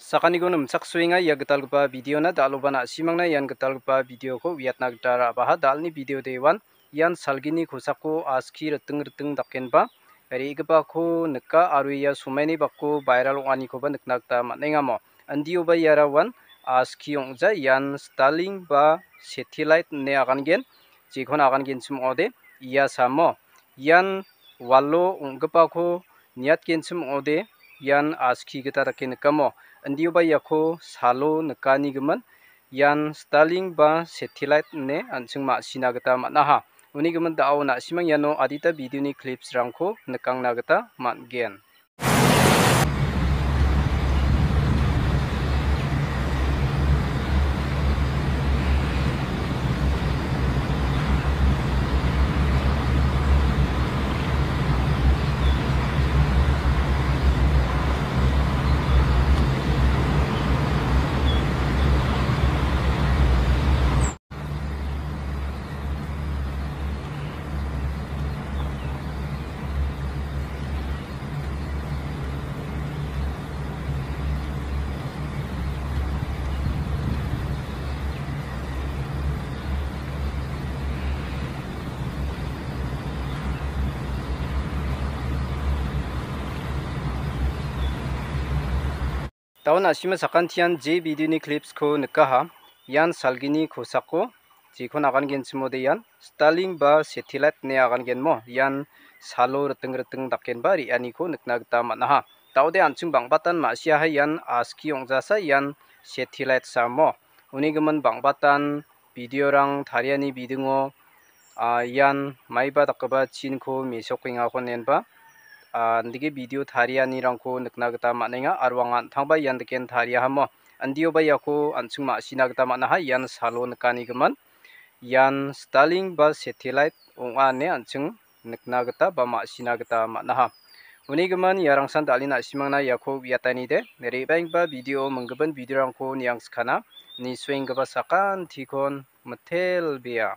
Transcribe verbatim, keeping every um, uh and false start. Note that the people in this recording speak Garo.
Sakaniko nimchaksoenga ia gitalgipa videona, dal·oba na·simangna ian gitalgipa videoko uiatna gita ra·baha. Dal·ni video dewan ian salgini kosako aski riting riting dakenba re·gipako nika aro ia somaini bako viral ong·anikoba nikna gita man·engamo. Indioba iara uan aski ong·ja, ian Starlink ba satellite ine agangen, jekon agangenchim ong·ode ia samo. Ian walo ong·gipako niatgenchim ong·ode ian aski gita dake nikamo. Indioba iako salo nikanigimin ian Starlink ba satellite ine an·ching ma·sina gita man·aha. Uni gimin da·o na·simang iano adita videoni clipsrangko nikangna gita man·gen. Daun a·sima sakantian je videoni clipsko nikaha. Ian salgini kosako jekon agangenchimode ian Starlink ba satellite ine agangenmo. Ian salo riting riting dakenba re·aniko nikna gita man·aha. Daode an·ching bang·batan ma·siaha ian aski ong·jasa ian satellite samo. Uni gimin bang·batan videorang tariani bidingo, ah, ian maiba dakgipa chinko mesokengako nenba, ah, andike video tarianirangko nikna gita man·enga aro anga an·tangba ian daken tariahamo. Andioba iako an·ching ma·sina gita man·aha, ian salo nikanigimin. Ian Starlink ba satellite ong·a ine an·ching nikna gita ba ma·sina gita man·aha. Uni gimin iarangsan dal·e na·simangna iako uiatanide. Re·baenggipa video, minggipa videorangko niangskana. Nisuenggipa sakantikon mitelbea.